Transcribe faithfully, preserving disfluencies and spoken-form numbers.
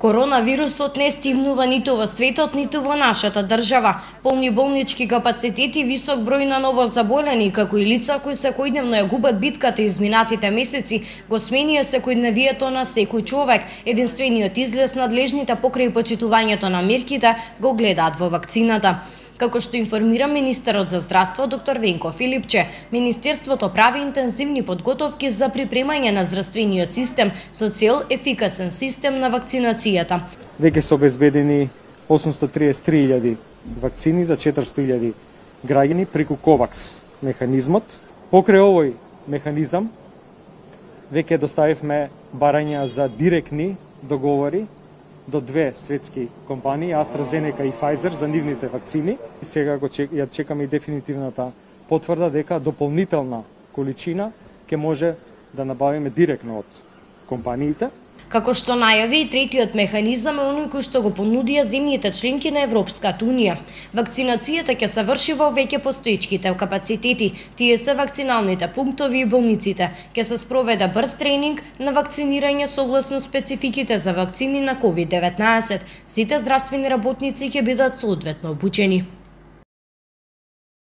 Коронавирусот не стигнува ниту во светот, ниту во нашата држава. Полни болнички капацитети, висок број на новозаболени, како и лица кои секојдневно ја губат битката изминатите месеци, го сменија секојдневието на секој човек. Единствениот излез надлежните покрај почитувањето на мерките го гледаат во вакцината. Како што информира министерот за здравство доктор Венко Филипче, министерството прави интензивни подготовки за припремање на здравствениот систем со цел ефикасен систем на вакцинацијата. Веќе се обезбедени осумстотри триесет и три илјади вакцини за четиристо илјади граѓани преку ковакс механизмот. Покрај овој механизам веќе доставивме барања за директни договори до две светски компании, AstraZeneca и Pfizer, за нивните вакцини. И сега го чек, ја чекаме и дефинитивната потврда дека дополнителна количина ќе може да набавиме директно од компаниите. Како што најави и третиот механизам е оној кој што го понудија земјите членки на Европската унија. Вакцинацијата ќе се врши во веќе постоечките капацитети. Тие се вакциналните пунктови и болниците. Ќе се спроведе брз тренинг на вакцинирање согласно спецификите за вакцини на ковид деветнаесет. Сите здравствени работници ќе бидат соодветно обучени.